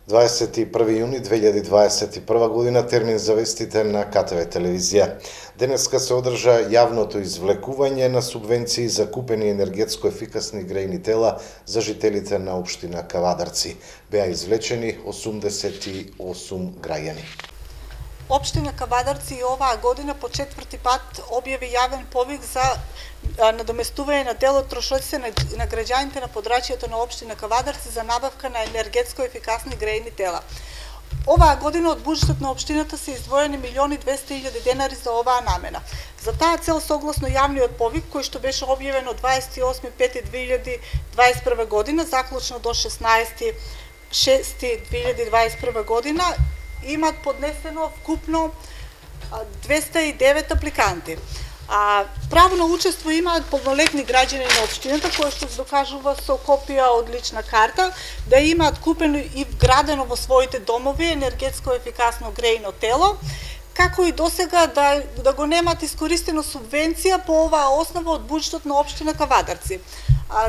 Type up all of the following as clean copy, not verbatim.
21 јуни 2021 година, термин за вестите на КТВ телевизија. Денеска се одржа јавното извлекување на субвенции за купени енергетско ефикасни грејни тела за жителите на општина Кавадарци. Беа извлечени 88 граѓани. Општина Кавадарци оваа година по четврти пат објави јавен повик за надоместување на дел од трошоците на граѓаните на подрачјето на општина Кавадарци за набавка на енергетско ефикасни грејни тела. Оваа година од буџетот на општината се издвоени 1.200.000 денари за оваа намена. За таа цел, согласно јавниот повик кој што беше објавен од 28.5.2021 година, заклучно до 16.6.2021 година, имат поднесено вкупно 209 апликанти. Право на учество имаат полнолетни граѓани на општината кои што се докажува со копија од лична карта да имаат купено и вградено во своите домови енергетско ефикасно грејно тело, како и досега да го немаат искористено субвенција по оваа основа од буџетот на општина Кавадарци.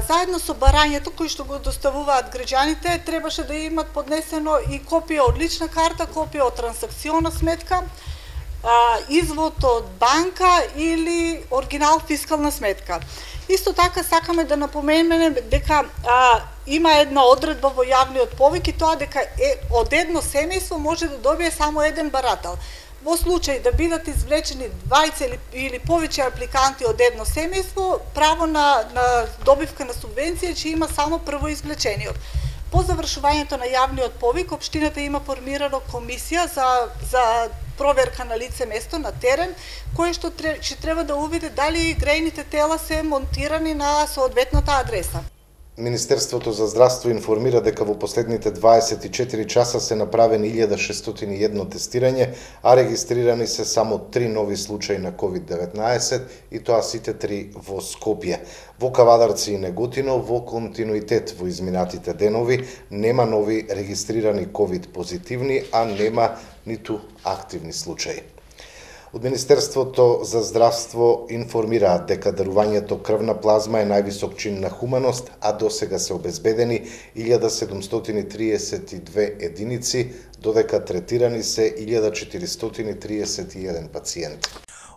Заедно со барањето кои што го доставуваат граѓаните, требаше да имаат поднесено и копија од лична карта, копија од трансакциона сметка, извод од банка или оригинал фискална сметка. Исто така сакаме да напоменеме дека има една одредба во јавниот повик и тоа дека од едно семејство може да добие само еден барател. Во случај да бидат извлечени 20 или повеќе апликанти од едно семејство, право на добивка на субвенција ќе има само првоизвлечениот. По завршувањето на јавниот повик, општината има формирано комисија за проверка на лице место на терен, кој што ќе треба да увиди дали грејните тела се монтирани на соодветната адреса. Министерството за здравство информира дека во последните 24 часа се направени 1601 тестирање, а регистрирани се само 3 нови случаи на COVID-19 и тоа сите 3 во Скопје. Во Кавадарци и Неготино во континуитет во изминатите денови нема нови регистрирани COVID позитивни, а нема ниту активни случаи. Од Министерството за здравство информираат дека дарувањето крвна плазма е највисок чин на хуманост, а досега се обезбедени 1732 единици, додека третирани се 1431 пациенти.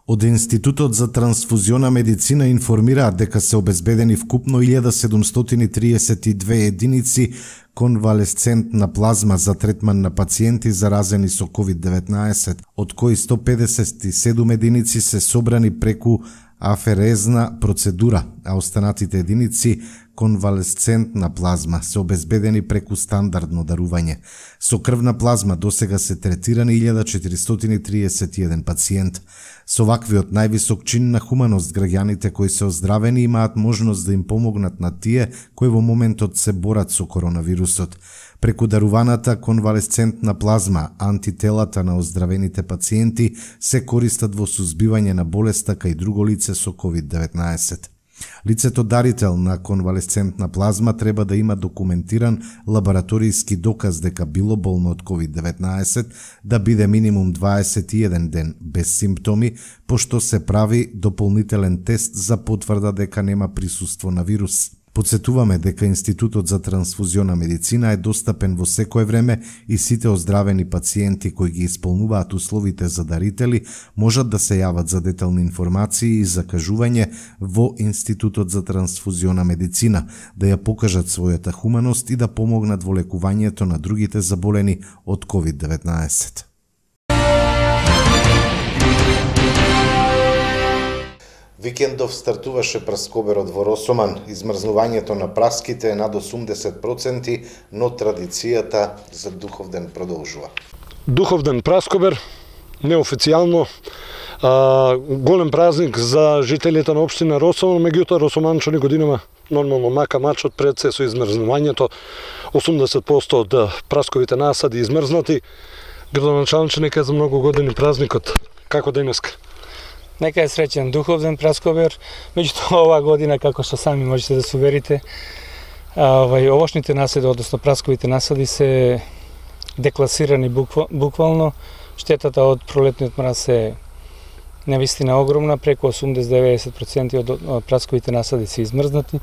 Од Институтот за трансфузиона медицина информираат дека се обезбедени вкупно 1732 единици конвалесцентна плазма за третман на пациенти заразени со COVID-19, од кои 157 единици се собрани преку аферезна процедура, а останатите единици конвалесцентна плазма се обезбедени преку стандардно дарување. Со крвна плазма досега се третирани 1431 пациент. Со ваквиот највисок чин на хуманост, граѓаните кои се оздравени имаат можност да им помогнат на тие кои во моментот се борат со коронавирусот. Преку даруваната конвалесцентна плазма, антителата на оздравените пациенти се користат во сузбивање на болеста кај друго лице со COVID-19. Лицето дарител на конвалесцентна плазма треба да има документиран лабораторијски доказ дека било болно од COVID-19, да биде минимум 21 ден без симптоми, пошто се прави дополнителен тест за потврда дека нема присуство на вирус. Подсетуваме дека Институтот за трансфузиона медицина е достапен во секое време и сите оздравени пациенти кои ги исполнуваат условите за дарители можат да се јават за детални информации и закажување во Институтот за трансфузиона медицина, да ја покажат својата хуманост и да помогнат во лекувањето на другите заболени од COVID-19. Викендов стартуваше праскоберот во Росоман. Измрзнувањето на праските е над 80%, но традицијата за Духовден продолжува. Духовден праскобер, неофицијално, голем празник за жителите на општина Росоман, меѓутоа росоманчани годинама нормално мака мачот пред се со измрзнувањето, 80% од прасковите насади измрзнати. Градоначалниче, нека е за многу години празникот. Како денеска? Нека е среќен Духовден праскобер, меѓутоа оваа година, како што сами можете да се уверите, овошните насади, односно прасковите насади се декласирани буквално. Штетата од пролетниот мраз е навистина огромна, преку 80-90% од прасковите насади се измрзнати.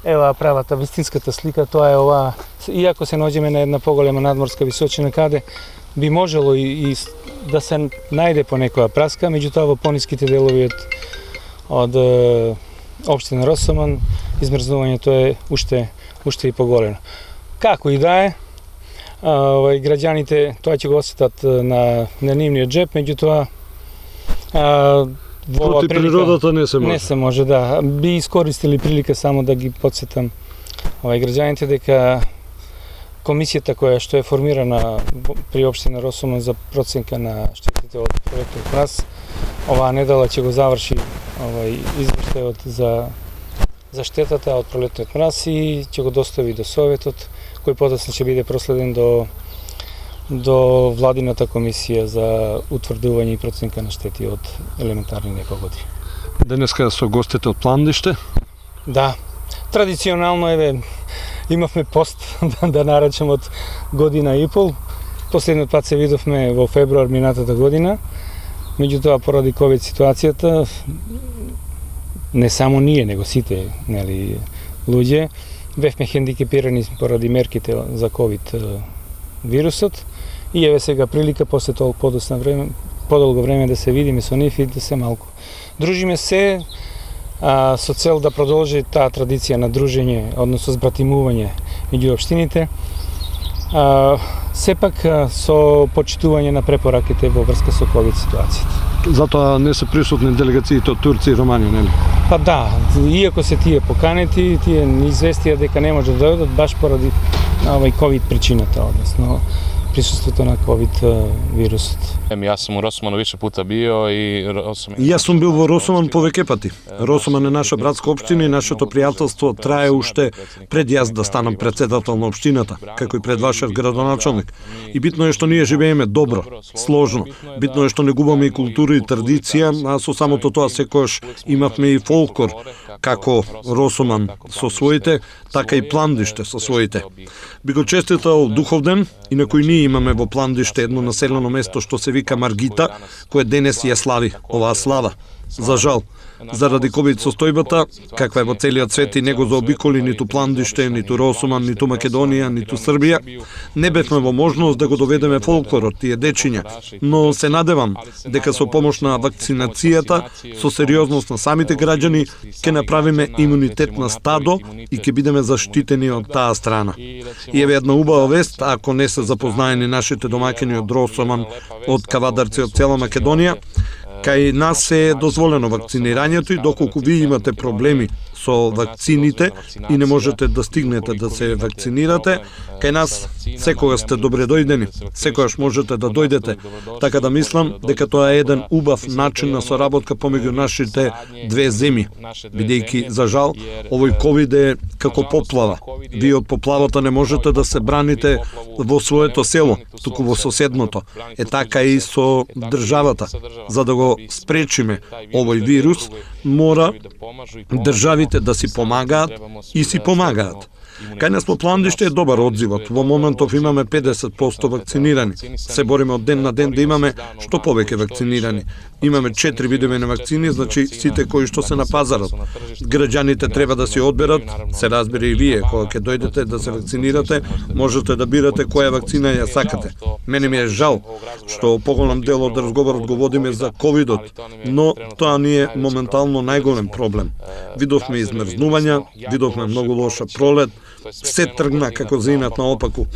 Ева правата вистинската слика, тоа е ова, иако се наоѓаме на една поголема надморска височина каде би можело и да се најде по некоја праска, меѓутоа во пониските делови од општина Росоман измрзнувањето е уште и поголемо. Како и да е, граѓаните тоа ќе го осетат на нивниот джеп, меѓутоа Проти природата не се може. Не се може, да. Би искористили прилика само да ги подсетам граѓаните дека комисијата која што е формирана при општина Росоман за проценка на штетите од пролетниот мраз, оваа недела ќе го заврши извештајот за штетата од пролетниот мраз и ќе го достави до Советот, кој подоцна ќе биде проследен до владината комисија за утврдување и проценка на штети од елементарни непогоди. Денеска со гостите од Пландиште? Да. Традиционално имавме пост да наречем од година и пол. Последниот пат се видовме во февруар минатата година. Меѓутоа поради ковид ситуацијата не само ние, него сите, луѓе бевме хендикепирани поради мерките за ковид вирусот и еве сега прилика после толку подолго време да се видиме со нив и да се малку дружиме се со цел да продолжи таа традиција на дружење, односно збратимување меѓу општините, сепак со почитување на препораките во врска со ковид ситуацијата. Затоа не се присутни делегациите од Турција и Романија, нели? Па да, иако се тие поканети, тие ни известија дека не може да дојдат баш поради ковид причината, односно присуството на ковид вирусот. Јас сум у Росоману више пута био и Јас сум бил во Росоман повеќе пати. Росоман е наша братска општина и нашето пријателство трае уште пред јас да станам председател на општината, како и пред вашиот градоначалник. И битно е што ние живееме добро, сложно. Битно е што не губаме и култура и традиција, а со самото тоа секојаш имавме и фолклор, како Росоман со своите, така и Пландиште со своите. Би го честитал Духовден и на кој ние имаме во Пландиште едно населено место што се вика Маргита, кое денес ја слави оваа слава. За жал, заради ковид состојбата, каква е во целиот свет и не го заобиколи ниту Пландиште, ниту Росоман, ниту Македонија, ниту Србија, не бевме во можност да го доведеме фолклорот, тие дечиња, но се надевам дека со помош на вакцинацијата, со сериозност на самите граѓани, ќе направиме имунитет на стадо и ќе бидеме заштитени од таа страна. И еве една убава вест, ако не се запознаени нашите домаќини од Росоман, од Кавадарци, од цела Македонија, кај нас е дозволено вакцинирањето и доколку вие имате проблеми со вакцините и не можете да стигнете да се вакцинирате, кај нас секогаш сте добре дојдени, секогаш можете да дојдете. Така да мислам дека тоа е еден убав начин на соработка помеѓу нашите две земји, бидејќи за жал овој ковид е како поплава. Вие од поплавата не можете да се браните во своето село, туку во соседното. Е така и со државата. За да го спречиме овој вирус, мора државите да си помагаат и си помагаат. Кај нас по Пландиште е добар одзивот. Во моментов имаме 50% вакцинирани. Се бориме од ден на ден да имаме што повеќе вакцинирани. Имаме 4 видови на вакцини, значи сите кои што се на пазарот. Граѓаните треба да си одберат, се разбира и вие, кога ќе дојдете да се вакцинирате, можете да бирате која вакцина ја сакате. Мене ми е жал што поголем дел од разговорот го водиме за ковидот, но тоа ни е моментално најголем проблем. Видовме измрзнувања, видовме многу лоша пролет, се тргна како заинат наопаку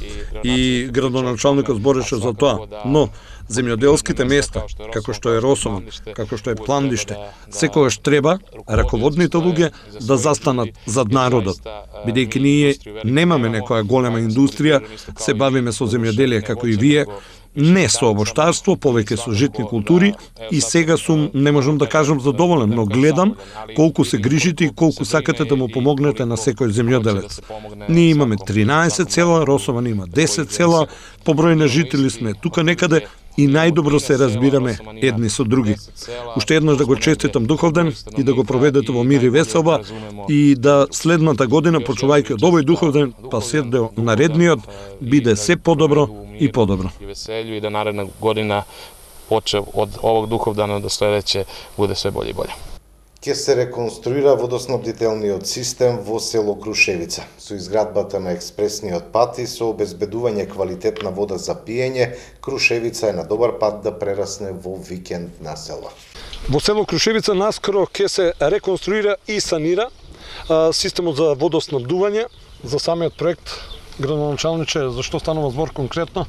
и градоначалникот збореше за тоа, но земјоделските места, како што е Росоман, како што е Пландиште, секогаш треба раководните луѓе да застанат зад народот, бидејќи ние немаме некоја голема индустрија, се бавиме со земјоделие како и вие, не со овоштарство, повеќе со житни култури и сега сум, не можам да кажам задоволен, но гледам колку се грижите и колку сакате да му помогнете на секој земјоделец. Ние имаме 13 села, Росоман има 10 села, по број на жители сме тука некаде и најдобро се разбираме едни со други. Уште еднаш да го честитам Духовден и да го проведете во мир и веселба и да следната година, почувајќи од овој Духовден, па се до наредниот, биде се подобро и подобро. И да наредна година почев од овог Духовдана до следеќе буде све болje и болje. Ке се реконструира водоснабдителниот систем во село Крушевица. Со изградбата на експресниот пат и со обезбедување квалитетна вода за пиење, Крушевица е на добар пат да прерасне во викенд населба. Во село Крушевица наскоро ке се реконструира и санира системот за водоснабдување. За самиот проект, градоначалниче, за што станува збор конкретно?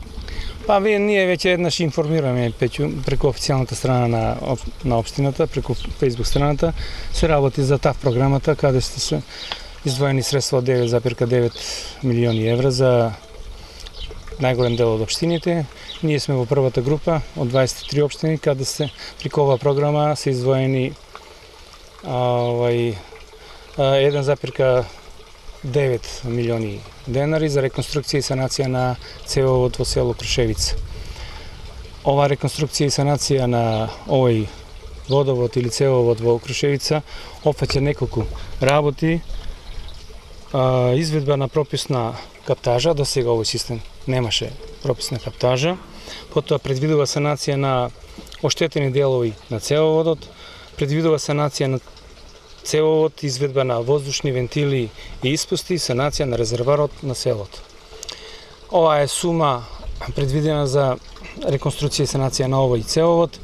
Ние веќе еднаш информираме преку официјалната страна на општината, преку Facebook страната, се работи за ТАФ програмата, каде се издвоени средства од 9,9 милиони евра за најголем дел од општините. Ние сме во првата група од 23 општини, каде се преку оваа програма се издвоени 1,9 милиони денари за реконструкција и санација на цевовод во село Крушевица. Ова реконструкција и санација на овој водовод или цевовод во Крушевица опфаќа неколку работи, изведба на прописна каптажа, до сега овој систем немаше прописна каптажа, потоа предвидува санација на оштетени делови на цевоводот, предвидува санација на цевовод, изведба на воздушни вентили и испусти, санација на резерварот на селото. Ова е сума предвидена за реконструкција и санација на овој цевовод.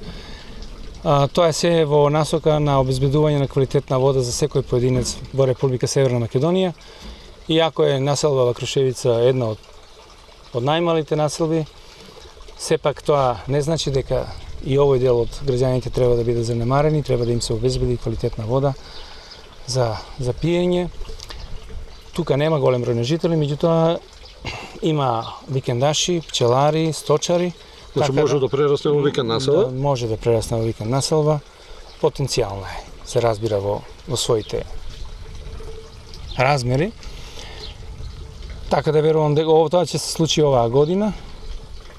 Тоа е се во насока на обезбедување на квалитетна вода за секој поединец во Република Северна Македонија. Иако е населба во Крушевица една од најмалите населби, сепак тоа не значи дека и овој дел од граѓаните треба да бидат занемарени, треба да им се обезбеди квалитетна вода за пиење. Тука нема голем број на жители, меѓутоа има викендаши, пчелари, сточари. Значи може да прерасне во викенд населба? Може да прерасне во викенд населба. Потенцијално е, се разбира во своите размери. Така да верувам дека тоа ќе се случи оваа година.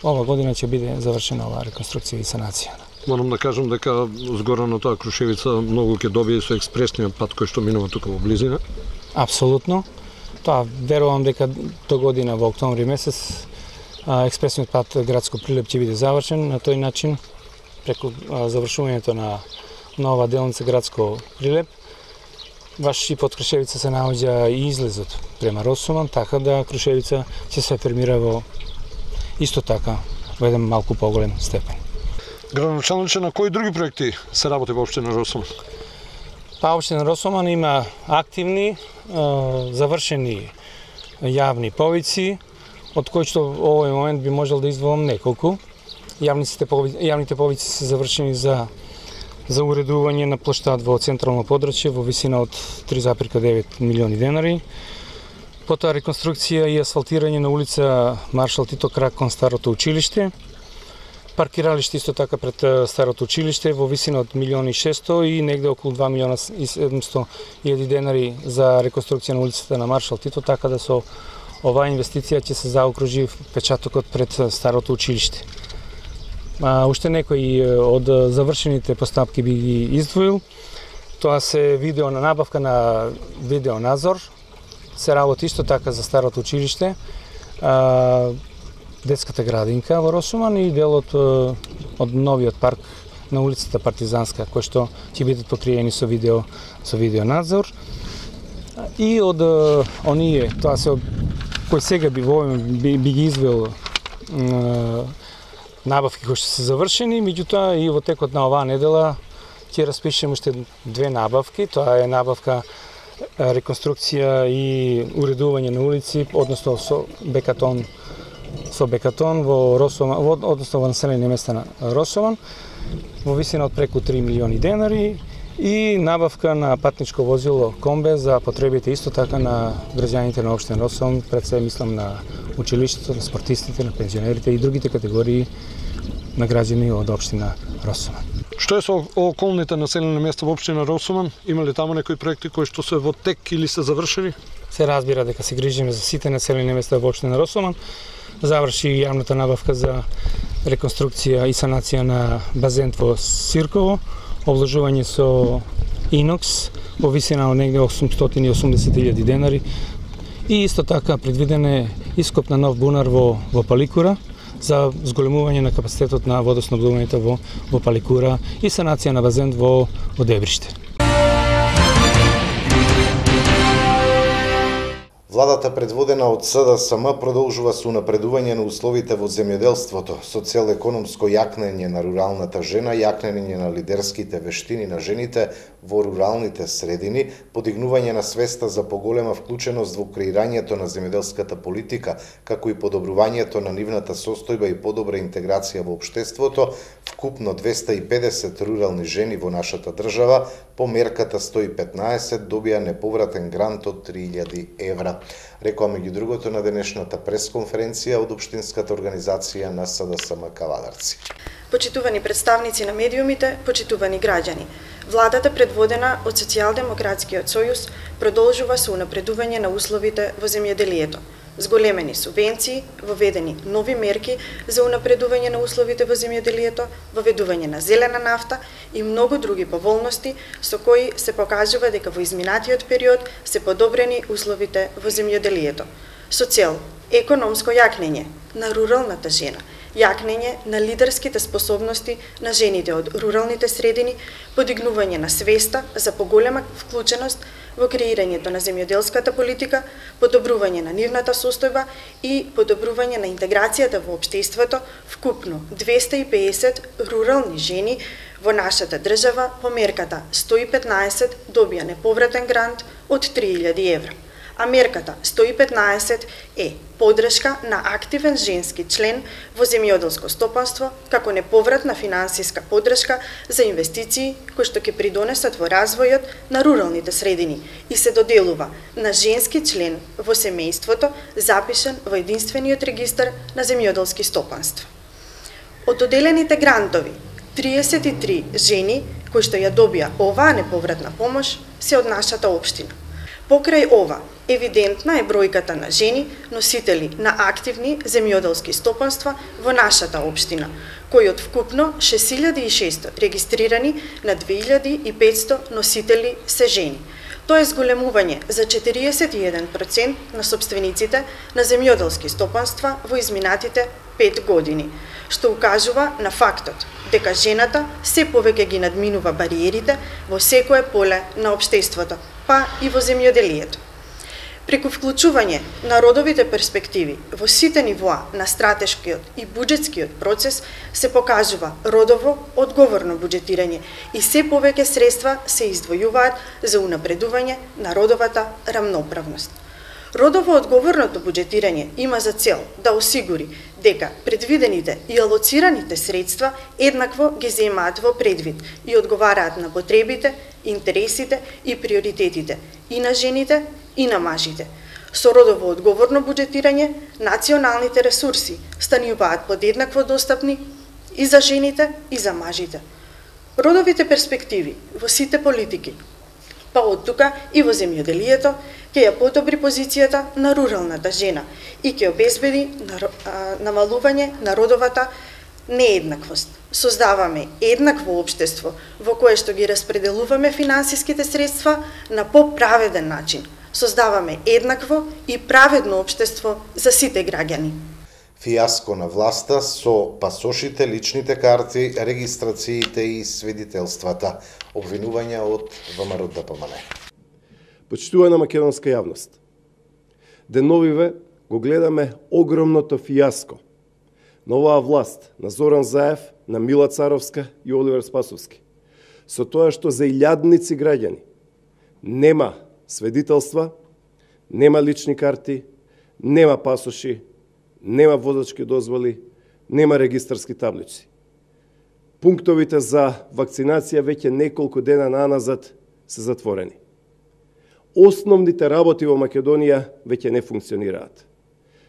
Ова година ќе биде завршена оваа реконструкција и санација. Морам да кажам дека згора на тоа Крушевица многу ќе добие со експресниот пат кој што минува тука во близина. Апсолутно. Тоа верувам дека до година во октомври месец експресниот пат градско Прилеп ќе биде завршен. На тој начин, преку завршувањето на нова делница градско Прилеп, баш и под Крушевица се наоѓа и излезот према Росоман, така да Крушевица ќе се афирмира во исто така во еден малку поголем степен. Градоначалниче, на кои други проекти се работи во општина Росоман? Општина Росоман има активни, завршени јавни повици, од кои што во овој момент би можел да издвоам неколку. Јавните повици се завршени за уредување на плоштад во централно подрачје во висина од 3,9 милиони денари. Потоа реконструкција и асфалтирање на улица Маршал Тито крак кон старото училиште. Паркиралиште исто така пред старото училиште во висина од 1.600.000 и негде околу 2.700.000 денари за реконструкција на улицата на Маршал Тито, така да со оваа инвестиција ќе се заокружи печатокот пред старото училиште. Уште некои од завршените постапки би ги издвоил. Тоа се набавка на видеонадзор, се работи исто така за старото училиште, детската градинка во Росоман и делот од новиот парк на улицата Партизанска, кој што ќе бидат покриени со видеонадзор. И од оние, тоа се кој сега би ги извел набавки кои што се завршени, меѓутоа и во текот на оваа недела ќе распишеме уште две набавки. Тоа е набавка реконструкција и уредување на улици, односно со бекатон во Росоман, односно во населени места на Росоман, во висина од преку 3 милиони денари и набавка на патничко возило Комбе за потребите исто така на граѓаните на општина Росоман, пред се мислам на училиштето, на спортистите, на пензионерите и другите категории на граѓани од општина Росоман. Што е со околните населени места во општина Росоман? Има ли таму некои проекти кои што се во тек или се завршени? Се разбира дека се грижиме за сите населени места во општина Росоман. Заврши јавната набавка за реконструкција и санација на базен во Сирково, обложување со инокс во висина од негде 880.000 денари и исто така предвиден е ископ на нов бунар во Паликура за зголемување на капацитетот на водоснабдувањето во Паликура и санација на базен во Дебриште. Владата предводена од СДСМ продолжува со унапредување на условите во земјоделството, со цел економско јакнење на руралната жена, јакнење на лидерските вештини на жените во руралните средини, подигнување на свеста за поголема вклученост во креирањето на земјоделската политика, како и подобрувањето на нивната состојба и подобра интеграција во општеството, вкупно 250 рурални жени во нашата држава по мерката 115 добија неповратен грант од 3000 евра. Рекоа меѓу другото на денешната пресконференција од Општинската организација на СДСМ Кавадарци. Почитувани представници на медиумите, почитувани граѓани, владата предводена од Социјалдемократскиот сојуз продолжува со унапредување на условите во земјоделието. Зголемени субвенции, воведени нови мерки за унапредување на условите во земјоделието, воведување на зелена нафта и многу други поволности со кои се покажува дека во изминатиот период се подобрени условите во земјоделието. Со цел економско јакнење на руралната жена, јакнење на лидерските способности на жените од руралните средини, подигнување на свеста за поголема вклученост во креирањето на земјоделската политика, подобрување на нивната состојба и подобрување на интеграцијата во општеството, вкупно 250 рурални жени во нашата држава по мерката 115 добија неповратен грант од 3000 евра. А мерката 115 е подршка на активен женски член во земјоделско стопанство како неповратна финансиска подршка за инвестиции кои што ќе придонесат во развојот на руралните средини и се доделува на женски член во семејството запишан во единствениот регистар на земјоделски стопанства. Од доделените грантови, 33 жени кои што ја добија оваа неповратна помош се од нашата општина. Покрај ова, евидентна е бројката на жени носители на активни земјоделски стопанства во нашата општина, кои од вкупно 6600 регистрирани на 2500 носители се жени. Тоа е зголемување за 41% на собствениците на земјоделски стопанства во изминатите 5 години, што укажува на фактот дека жената се повеќе ги надминува бариерите во секое поле на општеството, па и во земјоделието. Преку вклучување на родовите перспективи во сите нивоа на стратешкиот и буџетскиот процес се покажува родово одговорно буџетирање и се повеќе средства се издвојуваат за унапредување на родовата рамноправност. Родово одговорното буџетирање има за цел да осигури дека предвидените и алоцираните средства еднакво ги земаат во предвид и одговараат на потребите, интересите и приоритетите и на жените и на мажите. Со родово одговорно буџетирање, националните ресурси стануваат подеднакво достапни и за жените и за мажите. Родовите перспективи во сите политики, па од тука и во земјоделието, ќе ја подобри позицијата на руралната жена и ќе обезбеди намалување на родовата нееднаквост. Создаваме еднакво општество во кое што ги распределуваме финансиските средства на поправеден начин. Создаваме еднакво и праведно општество за сите граѓани. Фијаско на власта со пасошите, личните карти, регистрациите и свидетелствата. Обвинувања од ВМРО ДПМН. Почитувана македонска јавност, деновиве го гледаме огромното фијаско на оваа власт, на Зоран Заев, на Мила Царовска и Оливер Спасовски, со тоа што за илјадници граѓани нема свидетелства, нема лични карти, нема пасоши, нема возачки дозволи, нема регистарски таблици. Пунктовите за вакцинација веќе неколку дена наназад се затворени. Основните работи во Македонија веќе не функционираат.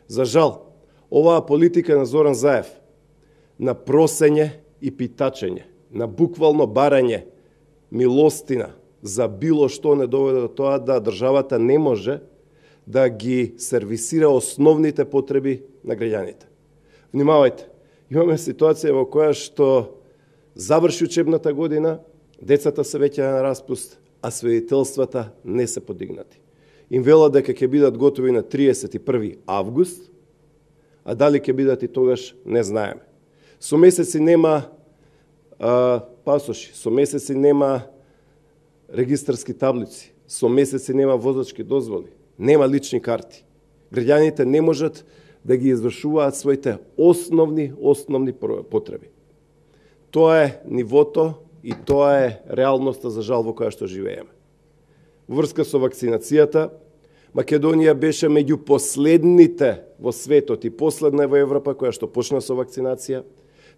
За жал, оваа политика на Зоран Заев, на просење и питачење, на буквално барање милостина за било што не доведе до тоа да државата не може да ги сервисира основните потреби на граѓаните. Внимавајте, имаме ситуација во која што заврши учебната година, децата се веќе на распуст, а свидетелствата не се подигнати. Им велат дека ќе бидат готови на 31 август, а дали ќе бидат и тогаш не знаеме. Со месеци нема пасоши, со месеци нема регистарски таблици, со месеци нема возачки дозволи, нема лични карти. Граѓаните не можат да ги извршуваат своите основни потреби. Тоа е нивото и тоа е реалноста за жал во која што живееме. Во врска со вакцинацијата, Македонија беше меѓу последните во светот и последна во Европа која што почна со вакцинација.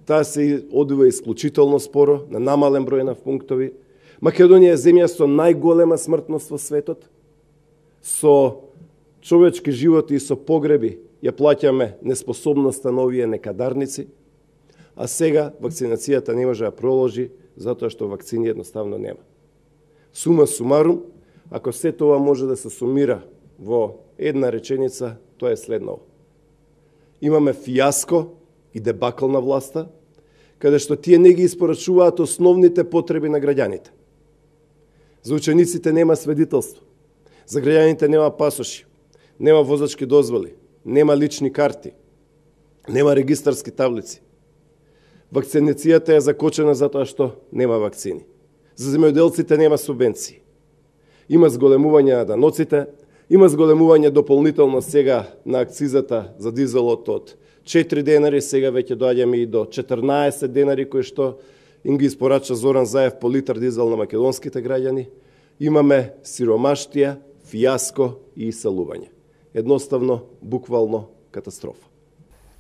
Таа се одвива исклучително споро, на намален број на пунктови. Македонија е земја со најголема смртност во светот. Со човечки животи и со погреби ја плаќаме неспособноста на овие некадарници, а сега вакцинацијата не може да проложи затоа што вакцини едноставно нема. Сума сумарум, ако се тоа може да се сумира во една реченица, тоа е следново. Имаме фијаско и дебакл на власта, каде што тие не ги испорачуваат основните потреби на граѓаните. За учениците нема свидетелство, за граѓаните нема пасоши, нема возачки дозволи, нема лични карти, нема регистарски таблици. Вакцинацијата е закочена затоа што нема вакцини. За земјоделците нема субвенции. Има зголемување на даноците, има зголемување дополнително сега на акцизата за дизелот од 4 денари, сега веќе доаѓаме и до 14 денари кои што им ги испорача Зоран Заев по литар дизел на македонските граѓани. Имаме сиромаштија, фијаско и иселување. Едноставно, буквално катастрофа.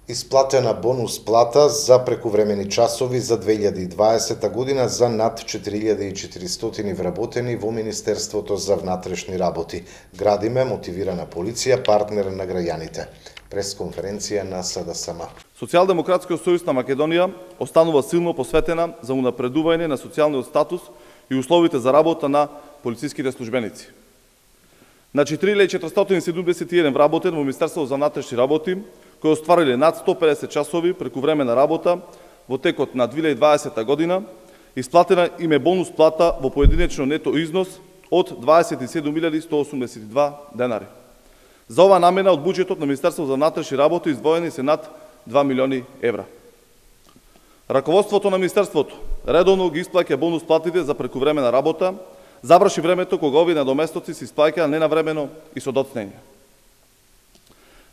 Исплатена бонус плата за прекувремени часови за 2020 година за над 4400 вработени во Министерството за внатрешни работи. Градиме мотивирана полиција, партнер на граѓаните. Пресконференција на СДСМ. Социјалдемократскиот сојуз на Македонија останува силно посветена за унапредување на социјалниот статус и условите за работа на полициските службеници. На 4471 вработен во Министерството за внатрешни работи, кои оствариле над 150 часови прекувремена работа во текот на 2020 година, исплатена им е бонус плата во поединечно нето износ од 27.182 денари. За ова намена од буџетот на Министерството за внатрешни работи издвоени се над 2 милиони евра. Раководството на Министерството редовно ги исплаќа бонус платите за прекувремена работа, забраши времето кога овие надоместоци се исплаќаа ненавремено и со доцнење.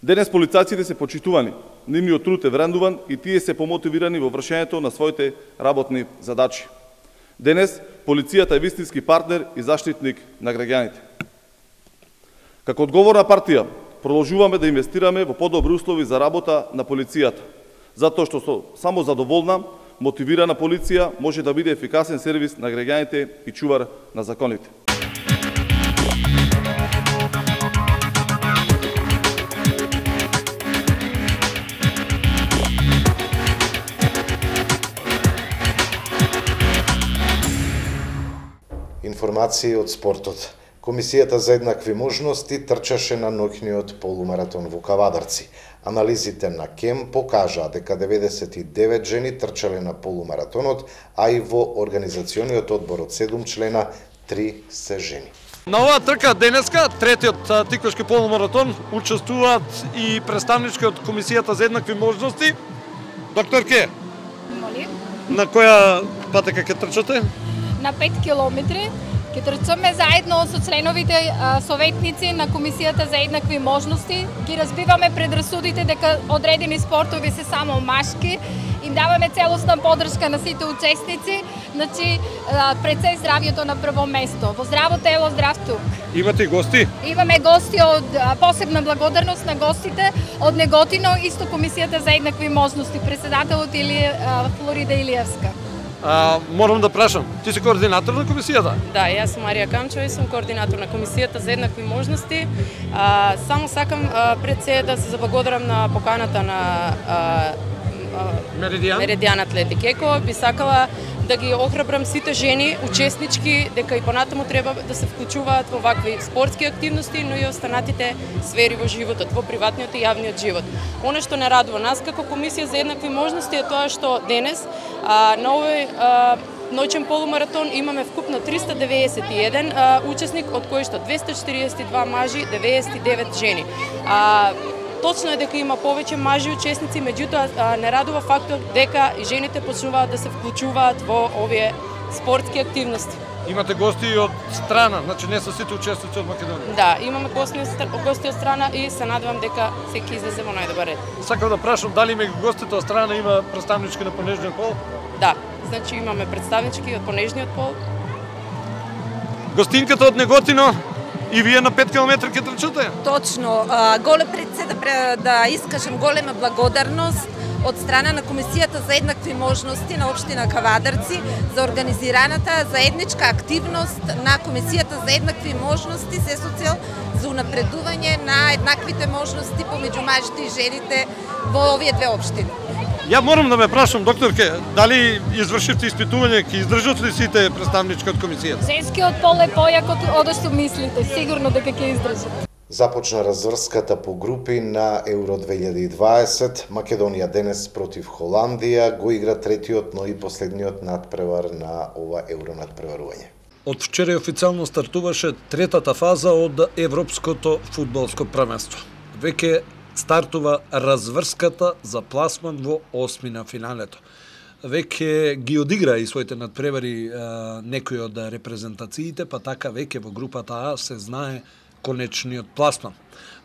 Денес полицајците се почитувани, нивниот труд е врендуван и тие се помотивирани во вршењето на своите работни задачи. Денес полицијата е вистински партнер и заштитник на граѓаните. Како одговорна партија, продолжуваме да инвестираме во подобри услови за работа на полицијата, затоа што само задоволна, мотивирана полиција може да биде ефикасен сервис на граѓаните и чувар на законите. Информации од спортот. Комисијата за еднакви можности трчаше на ноќниот полумаратон во Кавадарци. Анализите на КЕМ покажаа дека 99 жени трчале на полумаратонот, а и во организациониот одбор од 7 члена 3 се жени. На оваа трка денеска, третиот тиквашки полумаратон, учествуваат и представнички од Комисијата за еднакви можности. Доктор Ке, на која патека ќе трчате? На 5 километри. Ќе трчаме заедно со членовите советници на Комисијата за еднакви можности. Ги разбиваме предрасудите дека одредени спортови се само машки. Им даваме целосна подршка на сите учесници. Значи, пред се здравјето на прво место. Во здраво тело, здрав дух. Имате гости? Имаме гости од посебна благодарност на гостите од Неготино, исто Комисијата за еднакви можности, председателот Флорида Илиевска. Морам да прашам, ти си координатор на комисијата? Да, јас сум Марија Камчева и сум координатор на Комисијата за еднакви можности. Само сакам пред се да се заблагодарам на поканата на Меридиан Атлетик Еко. Би сакала да ги охрабрам сите жени, учеснички, дека и понатаму треба да се вклучуваат во вакви спортски активности, но и останатите сфери во животот, во приватниот и јавниот живот. Оно што не радува нас како Комисија за еднакви можности е тоа што денес на овој ноќен полумаратон имаме вкупно 391 учесник, од кои што 242 мажи, 99 жени. Точно е дека има повеќе мажи учесници, меѓутоа не радува фактор дека и жените почнуваат да се вклучуваат во овие спортски активности. Имате гости и од страна, значи не се сите учесници од Македонија. Да, имаме гости од страна и се надевам дека секи излезе во најдобар ред. Сакам да прашам дали меѓу гостите од страна има представнички на понежниот пол? Да, значи имаме представнички од понежниот пол. Гостинката од Неготино и вие на 5 км ќе трчате? Точно. Пред се да искажам голема благодарност од страна на Комисијата за еднакви можности на општина Кавадарци за организираната заедничка активност на Комисијата за еднакви можности се со цел за унапредување на еднаквите можности помеѓу мажите и жените во овие две општини. Ја морам да ме прашам, докторке, дали извршивте испитување, ќе издржат ли сите представнички од комисијата? Женскиот пол е појак од што мислите, сигурно дека ќе издржат. Започна разврската по групи на Евро 2020. Македонија денес против Холандија го игра третиот, но и последниот надпревар на ова Евро надпреварување. Од вчера официјално стартуваше третата фаза од Европското фудбалско првенство. Веќе стартува разврската за пласман во осми на финалето. Веќе ги одигра и своите надпревари некои од репрезентациите, па така веќе во групата А се знае конечниот пласман.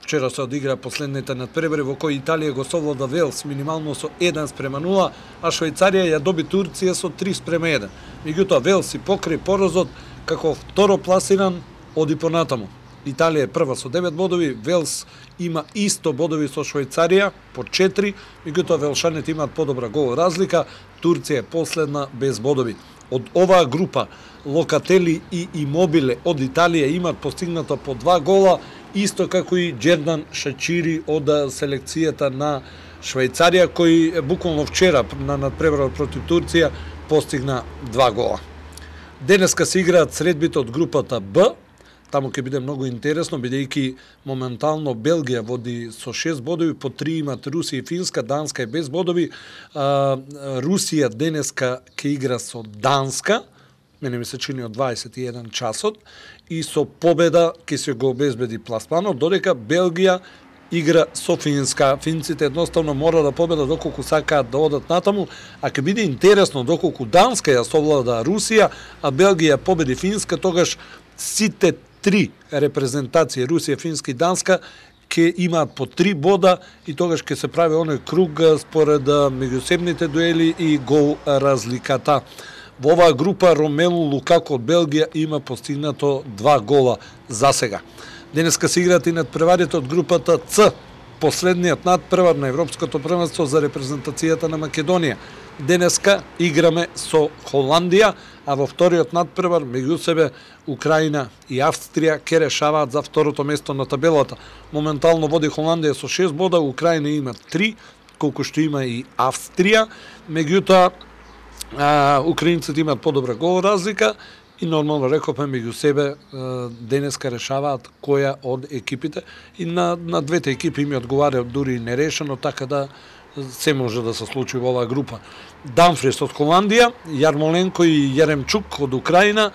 Вчера се одигра последните надпревари во кои Италија го совлада Велс минимално со 1:0, а Швајцарија ја доби Турција со 3:1. Меѓутоа Велс си покри поразот како второ пласиран оди понатаму. Италија е прва со 9 бодови, Велс има исто бодови со Швајцарија по 4, меѓутоа велшаните имаат подобра гол разлика, Турција е последна без бодови. Од оваа група Локатели и Имобиле од Италија имаат постигнато по 2 гола, исто како и Джердан Шачири од селекцијата на Швајцарија, кој буквално вчера на надпреварот против Турција постигна 2 гола. Денеска се играат средбите од групата Б. Таму ќе биде многу интересно, бидејќи моментално Белгија води со 6 бодови, по 3 имат Русија и Финска, Данска е без бодови. Русија денеска ќе игра со Данска, мене ми се чини од 21 часот, и со победа ќе се го обезбеди пласманот, додека Белгија игра со Финска. Финците едноставно мора да победат доколку сакаат да одат натаму, а ќе биде интересно доколку Данска ја совлада Русија, а Белгија победи Финска, тогаш сите 3 репрезентации, Русија, Финска и Данска, ќе имаат по 3 бода и тогаш ќе се прави оној круг според меѓусебните дуели и гол разликата. Во оваа група Ромелу Лукако од Белгија има постигнато 2 гола за сега. Денеска се играат и надпреварите од групата С, последниот надпревар на Европското првенство за репрезентацијата на Македонија. Денеска играме со Холандија, а во вториот надпревар меѓу себе Украина и Австрија ќе решаваат за второто место на табелата. Моментално води Холандија со 6 бода, Украина има 3, колку што има и Австрија. Меѓутоа украинците имаат подобра гол разлика и нормално рековме меѓу себе денеска решаваат која од екипите и на двете екипи им одговара дури и нерешено, така да се може да се случи во оваа група. Дамфрис од Холандија, Јармоленко и Јеремчук од Украина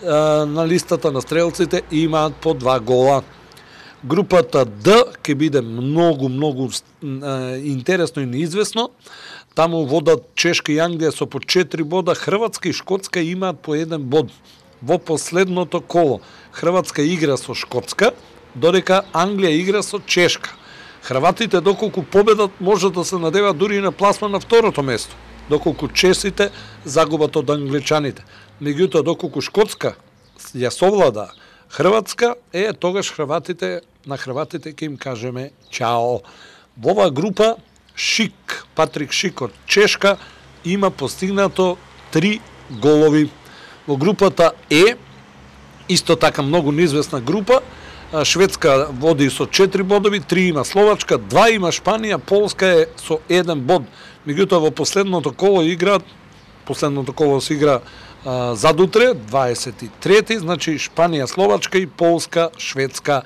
на листата на стрелците имаат по 2 гола. Групата Д ќе биде многу интересно и неизвестно. Таму водат Чешка и Англија со по 4 бода, Хрватска и Шкотска имаат по 1 bod. Во последното коло Хрватска игра со Шкотска, додека Англија игра со Чешка. Хрватите доколку победат може да се надеваат дури и на пласман на второто место, доколку чесите загубат од англичаните. Меѓутоа доколку Шкотска ја совлада Хрватска, тогаш на хрватите ќе им кажеме чао. Во оваа група Шик, Патрик Шик од Чешка има постигнато 3 голови. Во групата Е, исто така многу неизвестна група, Шведска води со 4 бодови, 3 има Словачка, 2 има Шпанија, Полска е со 1 bod. Меѓутоа во последното коло се игра задутре, 23-ти, значи Шпанија, Словачка и Полска, Шведска.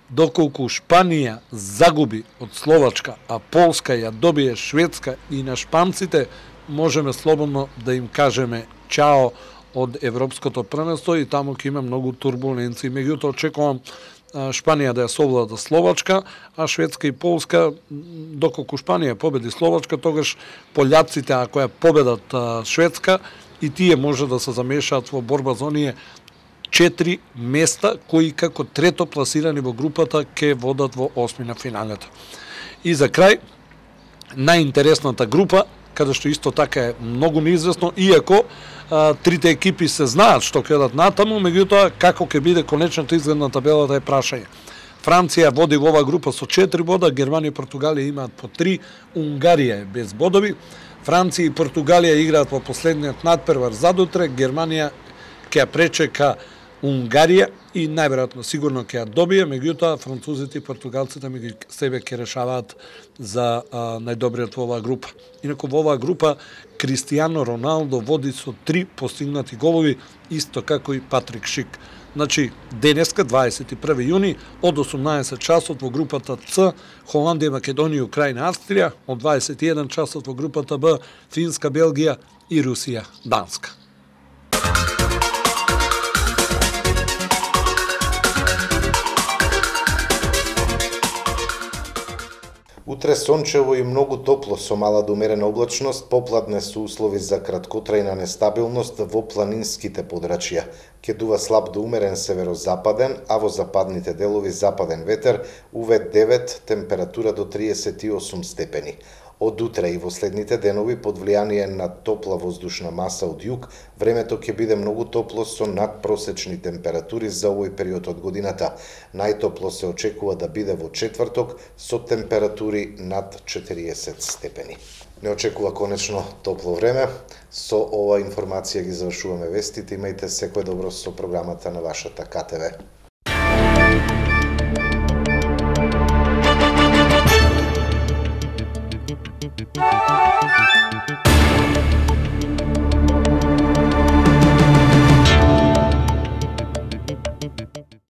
Доколку Шпанија загуби од Словачка, а Полска ја добие Шведска и на шпанците, можеме слободно да им кажеме чао од Европското првенство и таму ќе има многу турбуленции. Меѓутоа очекувам Шпанија да ја совлада Словачка, а Шведска и Полска, доколку Шпанија победи Словачка, тогаш пољаците ако ја победат Шведска и тие може да се замешаат во борба за оние 4 места кои како трето пласирани во групата ќе водат во осмина финалето. И за крај, најинтересната група, каде што исто така е многу неизвестно, иако трите екипи се знаат што ќе дадат натаму, меѓутоа како ќе биде конечната изглед на табелата е прашање. Франција води во оваа група со 4 бода, Германија и Португалија имаат по 3, Унгарија е без бодови. Франција и Португалија играат во последниот надпревар задутре, Германија ќе ја пречека Унгарија и најверојатно сигурно ќе ја добие, меѓутоа французите и португалците меѓу себе ќе решаваат за најдобриот во оваа група. Инаку во оваа група Кристијано Роналдо води со 3 постигнати голови, исто како и Патрик Шик. Значи, денеска, 21 јуни, од 18 часот во групата С, Холандија, Македонија, Украина, Австрија, од 21 часот во групата Б, Финска, Белгија и Русија, Данска. Утре сончево и многу топло со мала до умерена облачност, попладне со услови за краткотрајна нестабилност во планинските подрачја. Ќе дува слаб до умерен северозападен, а во западните делови западен ветер, УВ9, температура до 38 степени. Од утре и во следните денови, под влијание на топла воздушна маса од југ, времето ќе биде многу топло со надпросечни температури за овој период од годината. Најтопло се очекува да биде во четврток со температури над 40 степени. Не очекува конечно топло време. Со ова информација ги завршуваме вестите. Имајте секое добро со програмата на вашата КТВ. Thank you.